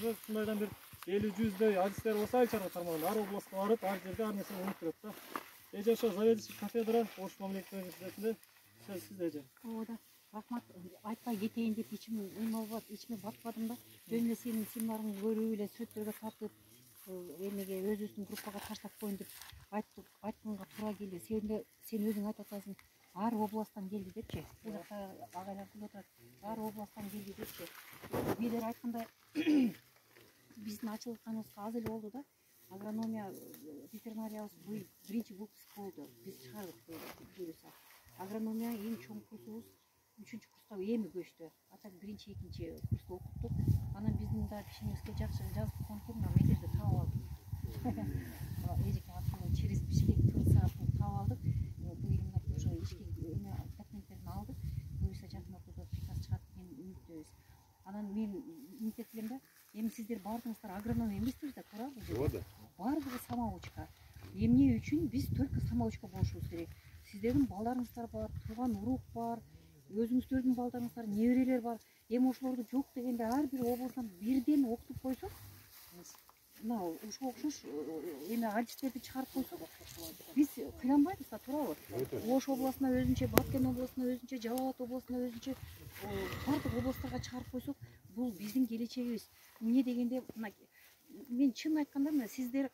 уже ушундайдан бир 50-100дөй адистер болсо ай чарба тармагында ар областка барып, ар жерде ар нерсени өнүктүрөт да. Эже ошо заведующий кафедра Ош мамлекеттик университетинде сөз сизде эже. Ооба, рахмат. Айтпай кетейин деп ичиме ичиме батпадым да. Жөн эле сенин семинарыңды көрүп эле сүрөттөргө тартып, эмеге өзүбүздүн группага таштап коеюн деп айтканга туура келди. Сен өзүң айтып атасың, ар областтан келди депчи. Бул жакта агайлар күлүп атат. Ар областтан келди депчи. Билер айткандай биздин ачылганыбызга аз эле болду да. Агрономия, ветеринария биринчи выпуск болду. Биз чыгардык буюрса. Агрономия эң чоң курсубуз 3-курска эми көчтү. Атак 1-2 курста окуттук. Анан биздин да кишимизге жакшы жазып койгон мен жерде таап алдым. Эжеке аркылуу через Бишкек ТСА таап алдык. Бул илимдерди уже ишке документтерин алдык. Буюрса жакын ортодо приказ чыгат деген үмүттөбүз. Анан мен үмүт этилем да, эми сиздер бардыңыздар агроном эмессиздер да, туурабы? Ооба. Бардыгы самоучка. Эмне үчүн биз только самоучка болушубуз керек? Сиздердин балдарыңыздар бар, тууган урук бар, өзүңүздөрдүн балдарыңыздар, неберелер бар. Эми ошолорду жок дегенде ар бир областан бирден окутуп койсок, мына ошого окшош эме адистерди чыгарып койсок, биз кыйланбайбыз да, туурабы? Ош областына өзүнчө, Баткен областына өзүнчө, Жалал Абад областына өзүнчө, бардык областтарга чыгарып койсок, бул биздин келечегибиз. Эмне дегенде, мына мен чын айтканда, мына сиздер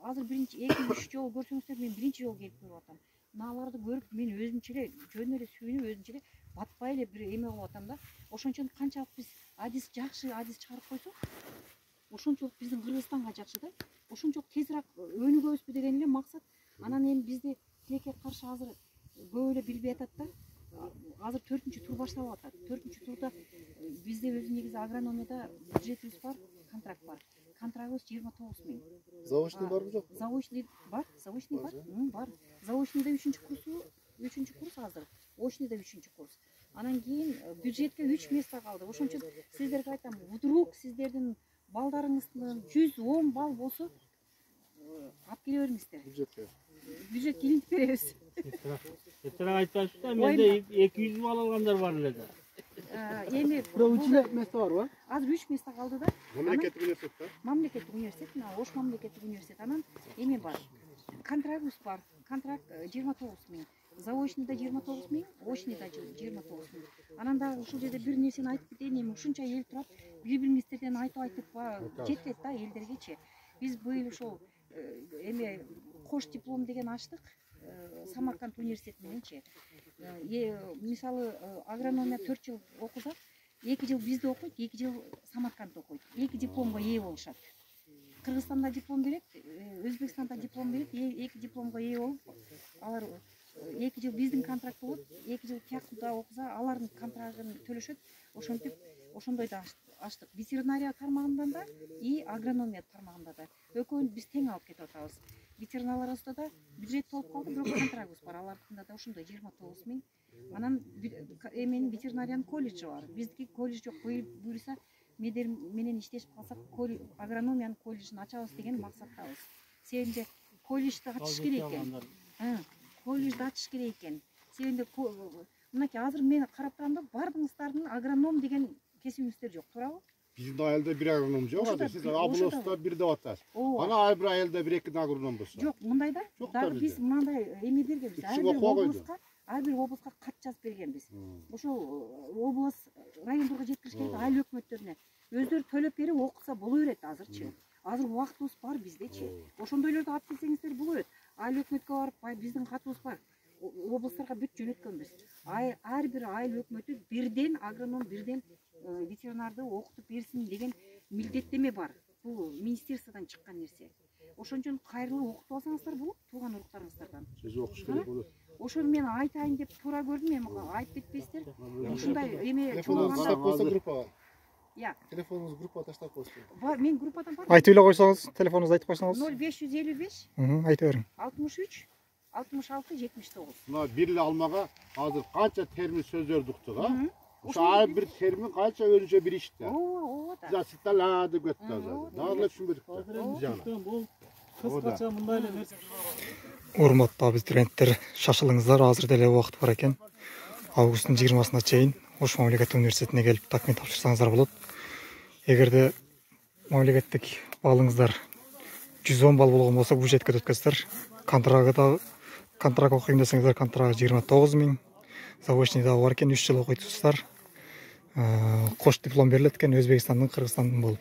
азыр 2-3 жолу көрсөңүздөр, мен 1-чи жолу келип көрүп атам. Аларды көрүп мен өзүмчө эле жөн эле сүйүнүп, өзүмчө эле батпай эле бир эме кылып атам да. Ошон үчүн канчалык биз жакшы адис чыгарып койсок, ошончолук биздин Кыргызстанга жакшы да. Ошончолук тезирээк өнүгөбүзбү деген эле максат. Анан эми бизди тилекке каршы азыр көп эле билбей атат да. Азыр 4-тур башталып атат. 4-турда бизде өзү негизи агрономияда бюджетибиз бар, контракт бар. Контрактыбыз 29 000. Заочный барбы жок? Заочный бар, заочный бар. Бар. Заочныйда 3-курс азыр. Очныйда 3-курс. Анан кийин бюджетке 3 место калды. Ошон үчүн сиздерге айтам, вдруг сиздердин балдарыңыздын 110 балл болсо, алып келе бериңиздер. Бюджетке илинтип беребиз. Этера айтасыз да, менде 200 балл алгандар бар эле да. Эми 3 место барбы? Азыр 3 место калды да. Мамлекеттик университет да? Мамлекеттик университет, мына Ош мамлекеттик университет. Анан эме бар. Контрактыбыз бар. Контракт 29 000. Заочныйда 29 000, очныйда 29 000. Анан дагы ушул жерде бир нерсени айтып кетейин, эми ушунча эл турат, бири-бириңиздерден айтып жетет да элдергечи. Биз быйыл ушул эме кош диплом деген ачтык. Самарканд университети мененчи. Мисалы агрономия 4 жыл окуса, 2 жыл бизде окуйт, 2 жыл Самаркандда окуйт. 2 дипломго ээ болушат. Кыргызстанда диплом берет, Өзбекстанда диплом берет, 2 дипломго ээ болуп, алар 2 жыл биздин контракт болот, 2 жыл тиякта окуса, алардын контрактын төлөшөт. Ошентип, ошондой да ачтык. Ветеринария тармагында да и агрономия тармагында да. Экөөнү биз тең алып кетип атабыз. Ветеринарларыбызда да бюджет болуп калды, бирок контрактыбыз бар. Алардыкында да ошондой 29 000. Анан эменин ветеринариянын колледжи бар. Биздики колледж жок. Буюрса медер менен иштешип калсак, агрономиянын колледжин ачабыз деген максаттабыз. Себебинде колледжди ачыш керек экен. Колледжди ачыш керек экен. Себебинде мынакей азыр мен карап турам да, бардыгыңыздардын агроном деген кесибиңиздер жок, туурабы? Биздин айылда бир агроном жок, азыр сиз областта бир деп атасыз. Ана ар бир айылда 1-2 агроном болсо. Жок, мындай да. Дагы биз мындай эме бергенбиз. Ар бир областка кат жазып бергенбиз. Ошол област райондорго жеткириш керек, айыл өкмөттөрүнө. Өздөрү төлөп берип окуса боло берет азырчы. Азыр убактыбыз бар биздечи. Ошондойлорду алып келсеңиздер боло берет. Айыл өкмөткө барып, биздин катыбыз бар. Областтарга бүт жөнөткөнбүз. Ар бир айыл өкмөтү бирден агроном, бирден ветеринарды окутуп берсин деген милдеттеме бар. Бул министерстводон чыккан нерсе. Ошон үчүн кайрылуу окутуп алсаңыздар болот, тууган уруктарыңыздардан. Сиз окуш керек болот. Ошону мен айтайын деп туура көрдүм, эми айтып кетпейсиздер. Ушундай эме Телефонуңузду койсо группага. Телефонуңузду группага таштап койсуң. Бар, мен группадан бар. Айтып эле койсоңуз, телефонуңузду айтып койсоңуз. 0555. Айта бериң. 63 66 79. Мына бир эле алмага азыр канча термин сөздөрдү уктук, а? Ошо ар бир термин канча өзүнчө бир иш да. Ооба да. Засытала деп кетти азыр. Дагы эле түшүнбөдүк да. Бул кыскача мындай эле нерсе. Урматтуу абитуриенттер, шашылыңыздар, азыр деле убакыт бар экен. Августтун 20-сына чейин Ош мамлекеттик университетине келип документ тапшырсаңыздар болот. Эгерде мамлекеттик балыңыздар 110 балл болгон болсо бюджетке өткөзсүздөр. Контракт окуйм десеңиздер контракт 29 000. Заочный дагы бар экен, 3 жыл окуйсуздар. Кош диплом берилет экен Өзбекстандын, Кыргызстандын болуп.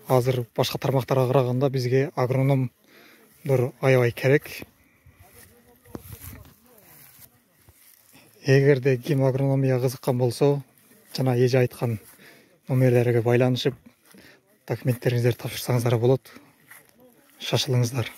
Азыр башка тармактарга караганда бизге агрономдор аябай керек. Эгерде ким агрономияга кызыккан болсо, жана эже айткан номерлерге байланышып документтериңиздерди тапшырсаңыздар болот. Шашылыңыздар.